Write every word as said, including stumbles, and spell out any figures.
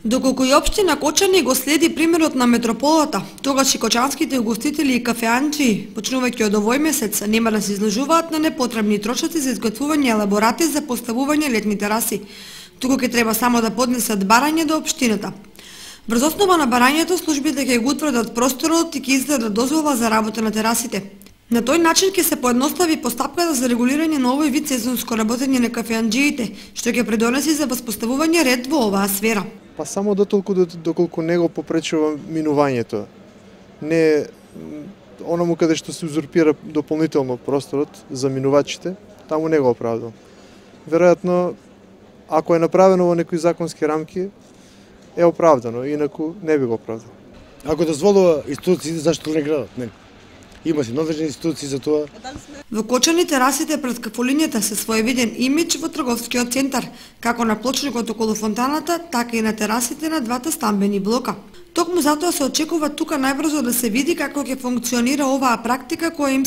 Доколку и општина Кочани го следи примерот на метрополата, тогаш и кочанските угостители и кафеанчи, почнувајќи од овој месец, нема да се изложуваат на непотребни трошоци за изготвување елаборати за поставување летни тераси, туку ќе треба само да поднесат барање до општината. Врз основа на барањето, службите ќе го утврдат просторот и ќе издадат дозвола за работа на терасите. На тој начин ќе се поедностави постапката за регулирање на овој вид сезонско работење на кафеанџиите, што ќе придонеси за воспоставување ред во оваа сфера. Па само дотолку доколку не го попречува минувањето. Не оному каде што се узурпира дополнително просторот за минувачите, таму не го оправдува. Веројатно, ако е направено во некои законски рамки, е оправдано, инаку не би го оправдал. Ако дозволува институциите, зашто не градат? Не. Има си надлежни институции за тоа. Во Кочани терасите пред кафулињата се своевиден имидж во трговскиот центар, како на плочникот околу фонтаната, така и на терасите на двата стамбени блока. Токму затоа се очекува тука најбрзо да се види како ќе функционира оваа практика која им